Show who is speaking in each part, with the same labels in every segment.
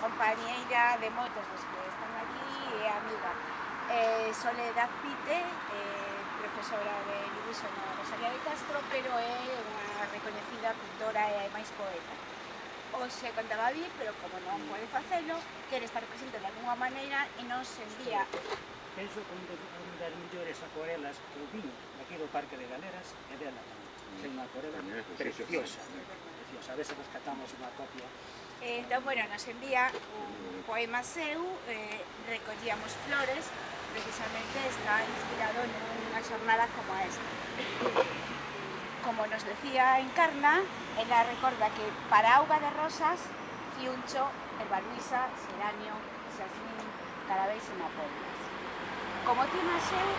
Speaker 1: compañeira de moitos dos que están aquí e amiga. Soledad Pite, profesora de dibuixo na Rosalía de Castro, pero é unha recoñecida pintora e máis poeta. Hoxe contaba vir, pero como non pode facelo, quere estar presente de alguna maneira e nos envía.
Speaker 2: Penso que unha das mellores acuarelas que eu vin aquí do Parque de Galeras é dela tamén. É unha acuarela preciosa, preciosa. A ver se rescatamos unha copia.
Speaker 1: Entón, bueno, nos envía un poema seu, recollíamos flores, precisamente está inspirado nunha xornada como esta. Como nos decía Encarna, ela recorda que para auga de rosas, fiuncho, herbaluisa, xeranio, xasmín, carabéis e mapollas. Como tema seu,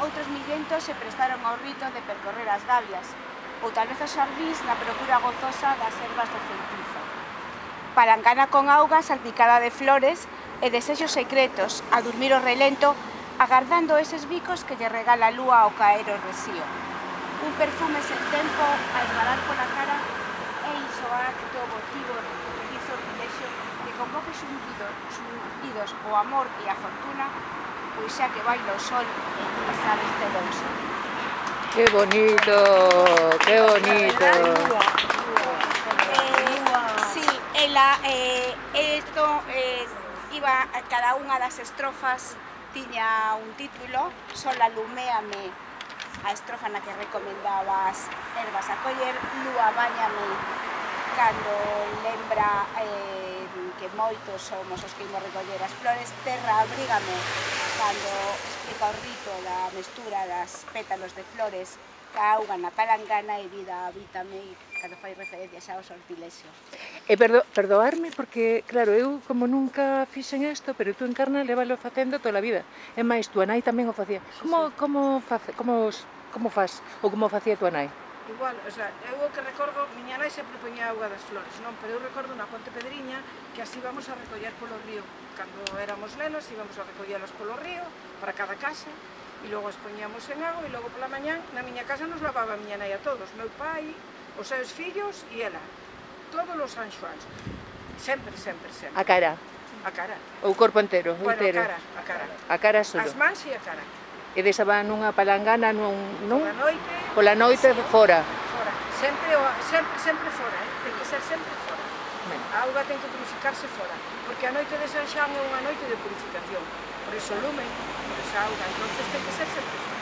Speaker 1: outros millentos se prestaron ao rito de percorrer as gabias, ou tal vez os xardís na procura gozosa das ervas do feitizo. Palangana con auga salpicada de flores e desexos secretos, a dormir o relento, agardando eses bicos que lle regala a lúa ao caer o resío. Un perfume sen tempo a esbalar pola cara e iso acto votivo de sortilexo que convoque xundidos o amor e a fortuna, pois xa que baila o sol en pisar este louso.
Speaker 3: ¡Qué bonito! ¡Qué bonito!
Speaker 1: Sí, ela, iba a cada unha das estrofas tiña un título, Sol aluméame, a estrofa na que recomendaba as ervas a coller, Lúa báñame, cando lembra que moitos somos os que imos recoller as flores, Terra abrígame, cando explica o rito da mestura das pétalos de flores ca auga na palangana, e vida habítame, cando fai referencia xa ao sortilexo.
Speaker 3: E perdoarme porque, claro, eu como nunca fixen isto, pero tú, Encarna, lévalo facendo toda a vida. E máis, tua nai tamén o facía. Como faz? Ou como facía tua nai?
Speaker 4: Igual, o sea, eu o que recordo, miña nai sempre poñía auga das flores, non? Pero eu recordo na Ponte Pedriña que así íbamos a recoller polo río. Cando éramos nenos íbamos a recollelas polo río, para cada casa, e logo as poñíamos en auga, e logo pola mañán na miña casa nos lavaba a miña nai a todos, meu pai, os seus fillos e ela, todos os San Xoáns. Sempre, sempre, sempre.
Speaker 3: A cara?
Speaker 4: A cara.
Speaker 3: Ou o corpo entero?
Speaker 4: Bueno, a cara, a cara.
Speaker 3: A cara solo?
Speaker 4: As mans e a cara.
Speaker 3: E deixaban nunha palangana, non?
Speaker 4: Pola noite,
Speaker 3: fora?
Speaker 4: Fora. Sempre fora, ten que ser sempre fora. A auga ten que purificarse fora, porque a noite de San Xoán é unha noite de purificación. Por iso o lume, por esa auga, entonces ten que ser sempre fora.